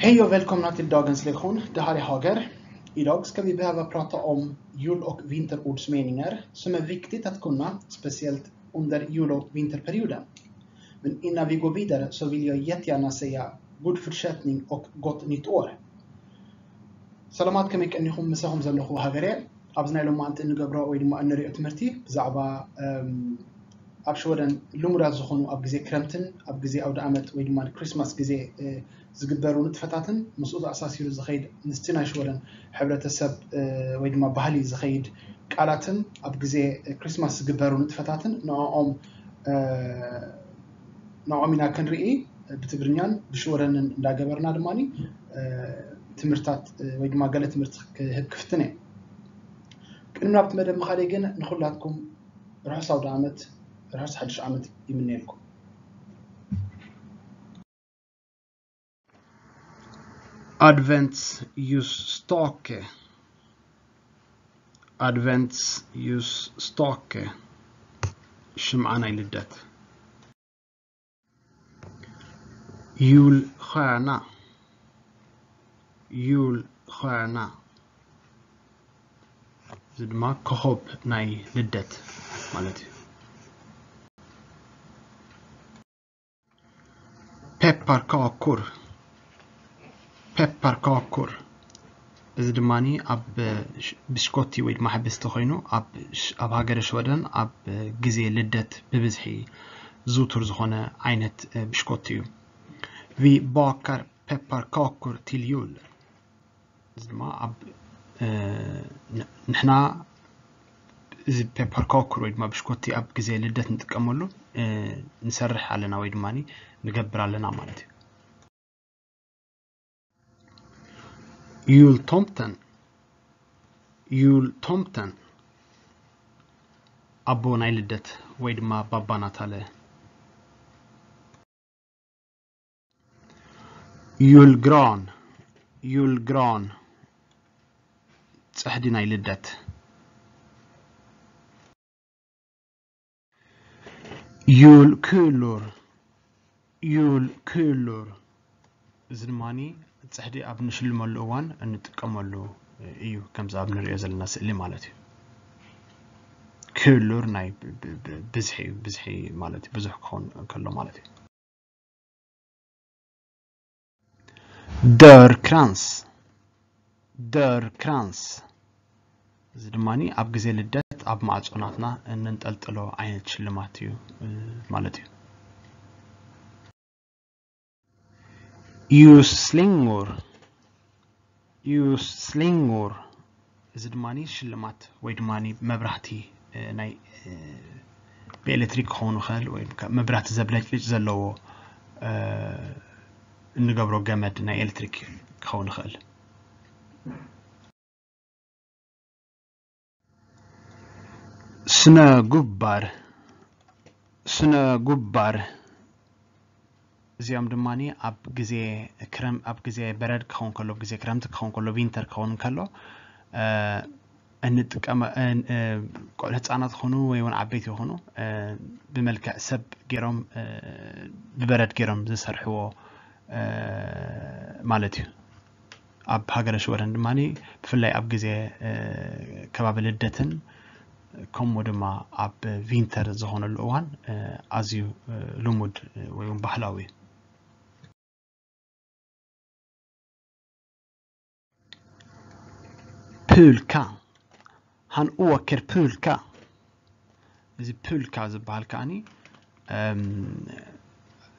Hej och välkomna till dagens lektion. Det här är Hager. Idag ska vi behöva prata om jul och vinterordsmeningar som är viktigt att kunna, speciellt under jul- och vinterperioden. Men innan vi går vidare så vill jag jättegärna säga god fortsättning och gott nytt år. ሰላማት፣ ከመይ ቀኒኹም? ምሳኹም ዘለኹ ሃገር እየ። ኣብዚ ናይ ሎማዓንቲ እንገብሮ ወይ ድማ እንሪኦ ትምህርቲ ብዛዕባ፣ እም፣ ኣብ ሽወደን ልሙዳት ዝኾኑ ኣብ ግዜ ክረምትን ኣብ ግዜ ኣውደ ዓመት ወይ ድማ ክሪስማስ ግዜ፣ እ፣ ዝግበሩ ንጥፈታትን ምስኡ ተኣሳሲሩ ዝኸይድ ምስቲ ናይ ሽወደን ሕብረተሰብ፣ እ፣ ወይ ድማ ባህሊ ዝኸይድ ቃላትን ኣብ ግዜ ክሪስማስ ዝግበሩ ንጥፈታትን ንዕኦም፣ እ፣ ንዕኦም ኢና ክንርኢ ብትግርኛን ብሽወደንን እንዳገበርና ድማ፣ እ፣ ትምህርታት፣ እ፣ ወይ ድማ ገለ ትምህርቲ ክህብ ክፍትን እየ። ቅድሚ ናብቲ መደብ ምኻደይ ግን ንኹላትኩም ርሑስ ኣውደ ዓመት፣ ርሑስ ሓድሽ ዓመት ይምነየልኩም። Adventsljusstake. Adventsljusstake. ሽምዓ ናይ ልደት። Julstjärna. Julstjärna. እዚ ድማ ኮኾብ ናይ ልደት ማለት እዩ። Pepparkakor. Pepparkakor. እዚ ድማ ኣብ፣ እ፣ ሽ-፣ ብሽኮቲ ወይ ድማ ሕብስቲ ኮይኑ ኣብ ሽ-፣ ኣብ ሃገረ ሽወደን ኣብ፣ እ፣ ግዜ ልደት ብብዝሒ ዝውቱር ዝኾነ ዓይነት፣ እ፣ ብሽኮቲ እዩ። Vi bakar pepparkakor till jul. እዚ ድማ ኣብ፣ እ፣ ን-፣ ንሕና እዚ ፔፐር ኮክር ወይ ድማ ብሽኮቲ ኣብ ግዜ ልደት ንጥቀመሉ፣ እ፣ ንሰርሕ ኣለና ወይ ድማ ንገብር ኣለና ማለት እዩ። Jultomten. Jultomten. ኣቦ ናይ ልደት ወይ ድማ ባባ ናታለ። Julgran. Julgran. ጽሕዲ ናይ ልደት። Julkulor. Julkulor. እዚ ድማ ጽሕዲ ኣብ ንሽልመሉ እዋን እንጥቀመሉ እዩ፣ ከምዚ ኣብ ንሪኦ ዘለና ስእሊ ማለት እዩ። Kulor ናይ ብ-፣ ብ-፣ ብ-፣ ብዝሒ እዩ፣ ብዝሒ ማለት እዩ፣ ብዙሕ ክኸውን ከሎ ማለት እዩ። Dörrkrans. Dörrkrans. እዚ ድማ ኣብ ግዜ ልደት ኣብ ማዕጾ ናትና እንንጠልጥሎ ዓይነት ሽልማት እዩ፣ እ፣ ማለት እዩ። Ljusslingor. Ljusslingor. እዚ ድማ ሽልማት ወይ ድማ መብራህቲ፣ እ፣ ናይ፣ እ፣ ብኤሌክትሪክ ክኸውን ይኽእል ወይ ከ-፣ መብራህቲ ዘብለጭልጭ ዘለዎ፣ እ፣ እንገብሮ ገመድ ናይ ኤሌክትሪክ ክኸውን ይኽእል። Snögubbar. Snögubbar. እዚኦም ድማ ኣብ ግዜ ክረም-፣ ኣብ ግዜ በረድ ክኸውን ከሎ፣ ኣብ ግዜ ክረምቲ ክኸውን ከሎ፣ ቪንተር ክኸውን ከሎ፣ እ፣ እንጥቀመ-፣ እ፣ እ፣ ቆልዑ ህፃናት ይኹኑ ወይ እውን ዓበይቲ ይኹኑ፣ እ፣ ብመልክዕ ሰብ ገይሮም፣ እ፣ ብበረድ ገይሮም ዝሰርሕዎ፣ እ፣ ማለት እዩ። ኣብ ሃገረ ሽወደን ድማ ብፍላይ ኣብ ግዜ፣ እ፣ ከባቢ ልደትን ከምኡ ድማ ኣብ ቪንተር ዝኾነሉ እዋን፣ እ፣ ኣዝዩ፣ እ፣ ልሙድ፣ እ፣ ወይ እውን ባህላዊ እዩ። Pulka. Han åker pulka. እዚ ፑልካ ዝበሃል ከዓኒ፣ እም፣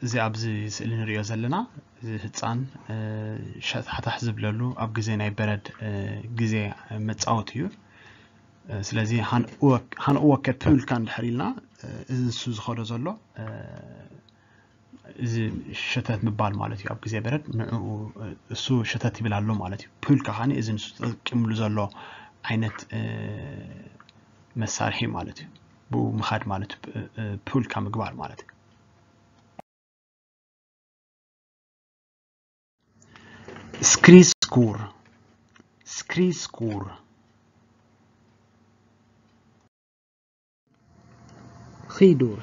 እዚ ኣብዚ ስእሊ ንሪኦ ዘለና፣ እዚ ህፃን፣ እ፣ ሸታሕታሕ ዝብለሉ ኣብ ግዜ ናይ በረድ፣ እ፣ ግዜ መፃወቲ እዩ። እ፣ ስለዚ ሃን ኡወክ-፣ ሃን ኡወከ ፑልካ እንድሕር ኢልና፣ እ፣ እዚ ንሱ ዝኸዶ ዘሎ፣ እ፣ እዚ ሸተት ምባል ማለት እዩ። ኣብ ግዜ በረድ ንዕኡ፣ እ፣ እሱ ሸተት ይብል ኣሎ ማለት እዩ። ፑልካ ከዓኒ እዚ ንሱ ተጠቂምሉ ዘሎ ዓይነት፣ እ፣ መሳርሒ ማለት እዩ። ብኡ ምኻድ ማለት እዩ። እ፣ እ፣ ፑልካ ምግባር ማለት እዩ። Skridskor. Skridskor. Skidor.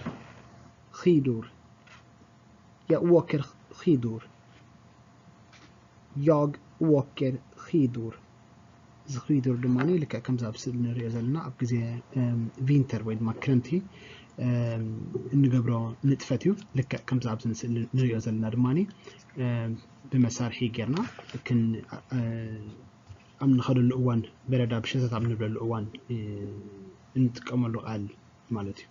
Skidor. Jag åker skidor. Jag åker skidor. እዚ ኺዱር ድማ ልክዕ ከምዚ ኣብ ስእሊ ንሪኦ ዘለና ኣብ ግዜ ቪንተር ወይ ድማ ክረምቲ እንገብሮ ንጥፈት እዩ። ልክዕ ከምዚ ኣብዚ ስእሊ ንሪኦ ዘለና ድማ ብመሳርሒ ጌርና ኣብ ንኸደሉ እዋን፣ በረዳ ብሸተት ኣብ ንብለሉ እዋን እንጥቀመሉ ቃል ማለት እዩ።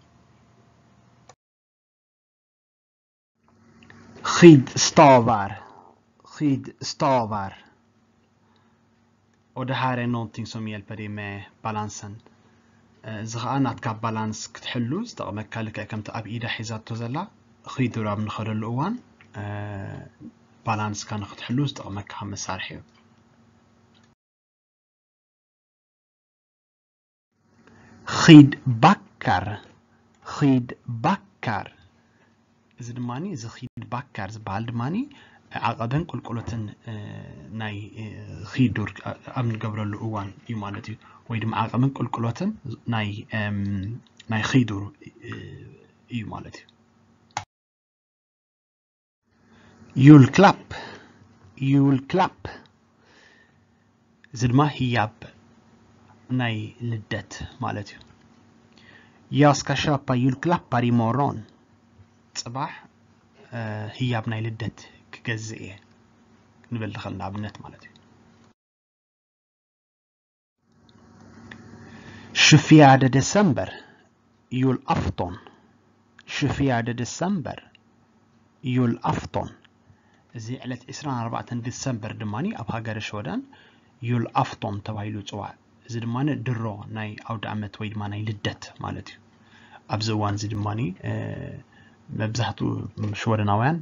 Skidstavar. Skidstavar. Och det här är någonting som hjälper dig med balansen. እዚ ከዓ ናትካ ባላንስ ክትሕሉ ዝጠቕመካ፣ ልክዕ ከምቲ ኣብ ኢዳ ሒዛቶ ዘላ ኺዱር ኣብ ንኸደሉ እዋን ባላንስካ ንክትሕሉ ዝጠቕመካ መሳርሒ እዩ። Skidbackar. Skidbackar. እዚ ድማ እዚ ኺድ ባካር ዝበሃል ድማ ዓቐብን ቁልቁሎትን ናይ ኺዱር ኣብ ንገብረሉ እዋን እዩ ማለት እዩ። ወይ ድማ ዓቐብን ቁልቁሎትን ናይ ናይ ኺዱር እዩ ማለት እዩ። Julklapp. Julklapp. እዚ ድማ ህያብ ናይ ልደት ማለት እዩ። Jag ska köpa julklappar imorgon. ፅባሕ ህያብ ናይ ልደት ክገዝእ እየ ክንብል ንኽእል፣ ንኣብነት ማለት እዩ። Tjugofjärde december, julafton. Tjugofjärde december, julafton. እዚ ዕለት ዕስራን ኣርባዕተን ዲሰምበር ድማ ኣብ ሃገረ ሽወደን ዩል ኣፍቶን ተባሂሉ ይፅዋዕ። እዚ ድማ ድሮ ናይ ኣውደ ዓመት ወይ ድማ ናይ ልደት ማለት እዩ። ኣብዚ እዋን እዚ ድማ መብዛሕትኡ ሽወደናውያን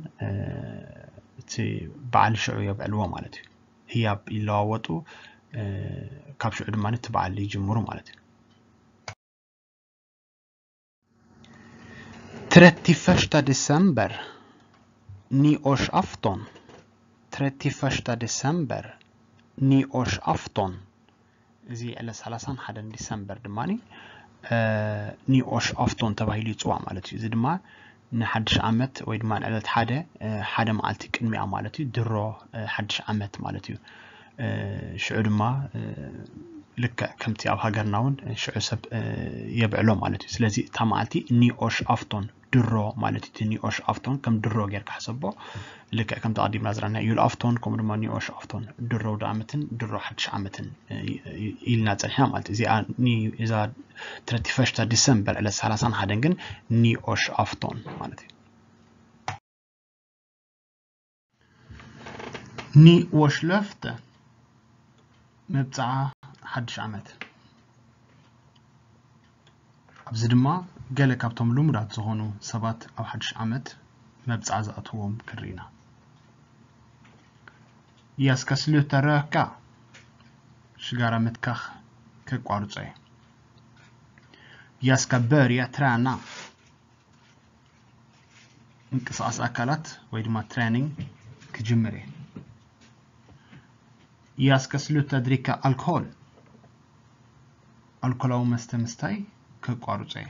እቲ በዓል ሽዑ የብዕልዎ ማለት እዩ። ህያብ ይለዋወጡ፣ ካብ ሽዑ ድማ እቲ በዓል ይጅምሩ ማለት እዩ። Trettioförsta december, nyårsafton. Trettioförsta december, nyårsafton. እዚ ዕለት ሰላሳን ሓደን ዲሰምበር ድማ ኒኦሽ ኣፍቶን ተባሂሉ ይፅዋዕ ማለት እዩ። እዚ ድማ ንሓድሽ ዓመት ወይ ድማ ንዕለት ሓደ ሓደ መዓልቲ ቅድሚኣ ማለት እዩ፣ ድሮ ሓድሽ ዓመት ማለት እዩ። ሽዑ ድማ ልክዕ ከምቲ ኣብ ሃገርና እውን ሽዑ ሰብ የብዕሎ ማለት እዩ። ስለዚ እታ መዓልቲ ኒኦሽ ኣፍቶን ድሮ ማለት እዩ። እቲ ኒኦሽ ኣፍቶን ከም ድሮ ጌርካ ሕሰቦ። ልክዕ ከምቲ ኣቐዲምና ዝረኣና ዩል ኣፍቶን ከምኡ ድማ ኒኦሽ ኣፍቶን ድሮ ኣውደ ዓመትን ድሮ ሓድሽ ዓመትን ኢልና ጸኒሕና ማለት እዩ። እዚኣ እዛ ትረቲ ፈሽታ ዲሰምበር ዕለት ሰላሳን ሓደን ግን ኒኦሽ ኣፍቶን ማለት እዩ። Nyårslöfte፣ መብጽዓ ሓድሽ ዓመት። ኣብዚ ድማ ገለ ካብቶም ልሙዳት ዝኾኑ ሰባት ኣብ ሓድሽ ዓመት መብጽዓ ዝኣትዎም ክንርኢ ኢና። Jag ska sluta röka፣ ሽጋራ ምትካኽ ከቋርጾ እየ። Jag ska börja träna፣ ምንቅስቓስ ኣካላት ወይ ድማ ትሬኒንግ ክጅምር እየ። Jag ska sluta dricka alkohol፣ ኣልኮላዊ መስተ ምስታይ ከቋርጾ እየ።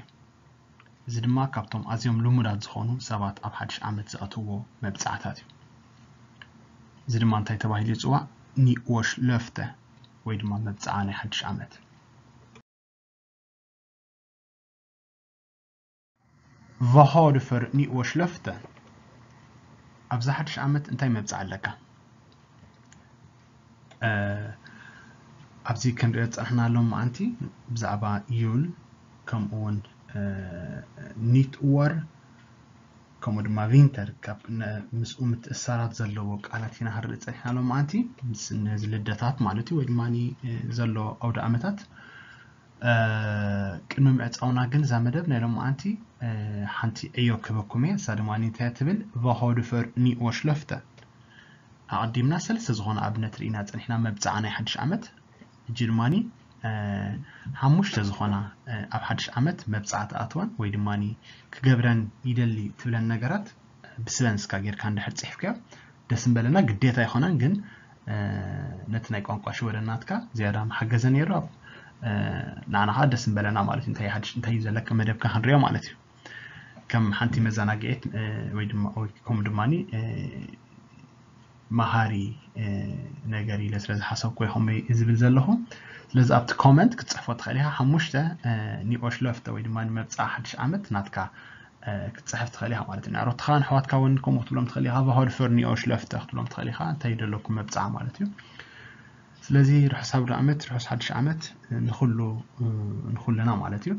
እዚ ድማ ካብቶም ኣዝዮም ልሙዳት ዝኾኑ ሰባት ኣብ ሓድሽ ዓመት ዝኣትውዎ መብጽዓታት እዩ። እዚ ድማ እንታይ ተባሂሉ ይጽዋዕ? Nyårslöfte ወይ ድማ መብጽዓ ናይ ሓድሽ ዓመት። Vad har du för nyårslöfte? ኣብዚ ሓድሽ ዓመት እንታይ መብጽዓ ኣለካ? ኣብዚ ክንሪኦ ዝጸናሕና ሎማዓንቲ ብዛዕባ ዩል ከምኡ እውን ኒት ወር ከምኡ ድማ ቪንተር ካብ ምስኡ ምትእስሳራት ዘለዎ ቃላት ኢና ክንርኢ ጸኒሕና ሎማዓንቲ። ነዚ ልደታት ማለት እዩ ወይ ድማ ዘሎ ኣውደ ዓመታት ቅድሚ ምዕጻውና ግን እዛ መደብ ናይ ሎማዓንቲ ሓንቲ ዕዮ ክህበኩም እየ። እሳ ድማ እንታይ ትብል? Vad har du för nyårslöfte? ኣቐዲምና ሰለስተ ዝኾነ ኣብነት ርኢና ጸኒሕና መብጽዓ ናይ ሓድሽ ዓመት። ሕጂ ድማ ሓሙሽተ ዝኾና ኣብ ሓድሽ ዓመት መብጽዓ ትኣትወን ወይ ድማ ክገብረን ይደሊ ትብለን ነገራት ብስበንስካ ጌርካ እንድሕር ጽሒፍካዮ ደስ ምበለና። ግዴታ ኣይኮነን ግን ነቲ ናይ ቋንቋ ሽወደን ናትካ ዝያዳ ምሓገዘ ነይሩ። ንዓና ከዓ ደስ ምበለና ማለት እዩ። እንታይ ሓድሽ እንታይ እዩ ዘለካ መደብካ ክንሪኦ ማለት እዩ። ከም ሓንቲ መዘናግዒት ወይ ድማ ወይ ከምኡ ድማ መሃሪ ነገር ኢለ ስለ ዝሓሰብኩ ይኸመይ ዝብል ዘለኹ። ስለዚ ኣብቲ ኮመንት ክትፅሕፎ ትኽእል ኢኻ። ሓሙሽተ ኒኦሽ ለፍተ ወይ ድማ ንመብፃ ሓድሽ ዓመት ናትካ ክትፅሕፍ ትኽእል ኢኻ ማለት እዩ። ንኣሮትኻ ንኣሕዋትካ እውን ከምኡ ክትብሎም ትኽእል ኢኻ። ቫሆድ ፎር ኒኦሽ ለፍተ ክትብሎም ትኽእል ኢኻ። እንታይ ደለኩም መብፃ ማለት እዩ። ስለዚ ርሑስ ኣውደ ዓመት፣ ርሑስ ሓድሽ ዓመት ንኹሉ ንኹልና ማለት እዩ።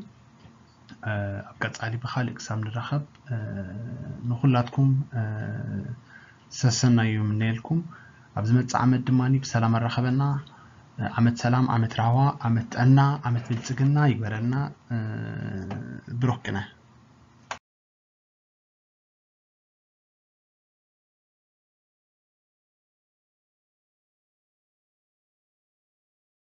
ኣብ ቀፃሊ ብካሊእ ክሳብ ንራኸብ ንኹላትኩም ሰሰናዩ ምነየልኩም። ኣብ ዝመፅእ ዓመት ድማ ብሰላም ኣራኸበና። ዓመት ሰላም፣ ዓመት ራህዋ፣ ዓመት ጥዕና፣ ዓመት ብልፅግና ይግበረልና። ብሩክ ቅነ።